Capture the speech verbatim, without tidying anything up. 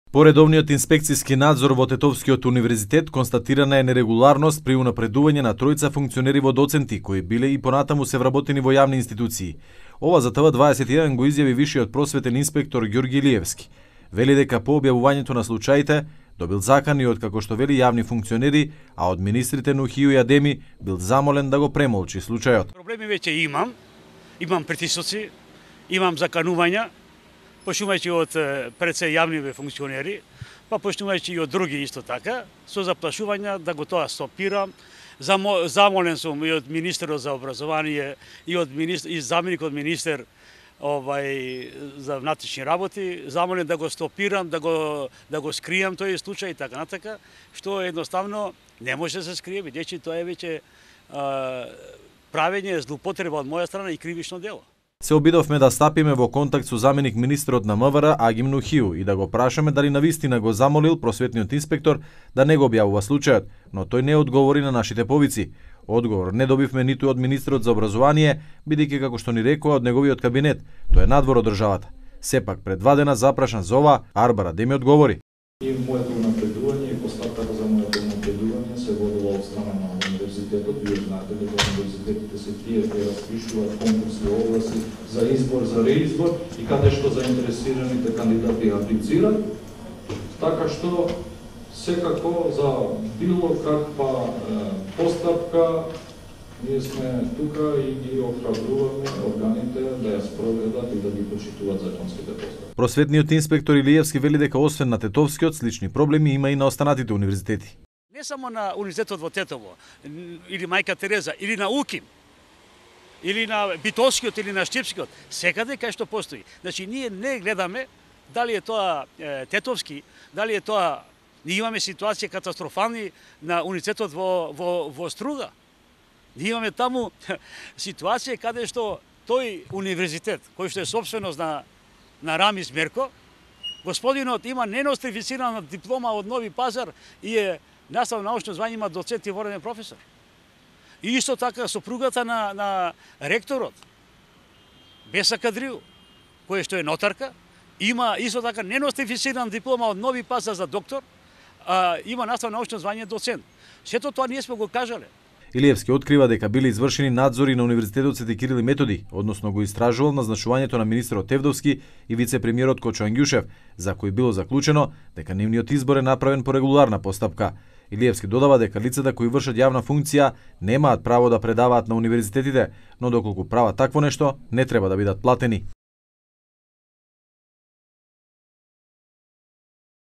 По редовниот инспекцијски надзор во Тетовскиот универзитет констатирана е нерегуларност при унапредување на тројца функционери во доценти кои биле и понатаму се вработени во јавни институции. Ова за Т В дваесет и еден го изјави вишиот просветен инспектор Ѓорги Илиевски. Вели дека по објавувањето на случаите добил закани од, како што вели, јавни функционери, а од министрите Нухију и Адеми бил замолен да го премолчи случајот. Проблеми веќе имам, имам притисоци, имам заканувања, почнувајќи од пред се јавни функционери, па почнувајќи и од други исто така, со заплашувања да го тоа стопирам. Замолен сум и од министерот за образование и од министр, и заменик од министер овај за внатрешни работи, замолен да го стопирам, да го да го скријам тој случај и така натака, што едноставно не може да се скрие, бидејќи тоа е веќе правење злоупотреба од моја страна и кривично дело. Се обидовме да стапиме во контакт со заменик министерот на М В Р Агим Нухију и да го прашаме дали навистина го замолил просветниот инспектор да не го објавува случајот, но тој не одговори на нашите повици. Одговор не добивме ниту од министерот за образование, бидејќи, како што ни рекоа, од неговиот кабинет, тој е надвор од државата. Сепак пред два дена запрашан за ова, Арбара Адеми одговори. И моето напредување и постапката за моето напредување се водила од страна на универзитетот. Вие знаете дека универзитетите се тие кои распишуваат конкурси огласи за избор, за реизбор и каде што заинтересираните кандидати аплицираат. Така што секако за било каква е, постапка ние сме тука и ги охрабруваме органите да ја спроведат и да ги почитуваат законските постапки. Просветниот инспектор Илиевски вели дека освен на Тетовскиот, слични проблеми има и на останатите универзитети. Не само на универзитетот во Тетово, или Мајка Тереза, или на УКИМ, или на Битолскиот, или на Штипскиот, секаде кај што постои. Значи, ние не гледаме дали е тоа е, Тетовски, дали е тоа... Ние имаме ситуација катастрофални на универзитетот во, во, во Струда. Ние имаме таму ситуација каде што тој универзитет, кој што е собственост на, на Рамис Мерко, господинот има ненострифицирана диплома од Нови Пазар и е наставно научно звање, има доцент и вореден професор. И исто така сопругата на, на ректорот, Беса Кадриу, кој што е нотарка, има исто така ненострифицирана диплома од Нови Пазар за доктор, а, има наставно научно звање доцент. Сето тоа ние сме го кажале. Илиевски открива дека биле извршени надзори на Универзитетот Свети Кирил и Методи, односно го истражувал назначувањето на министерот Тевдовски и вице-премиерот Кочо Ангјушев, за кој било заклучено дека нивниот избор е направен по регуларна постапка. Илиевски додава дека лицата кои вршат јавна функција немаат право да предаваат на универзитетите, но доколку прават такво нешто, не треба да бидат платени.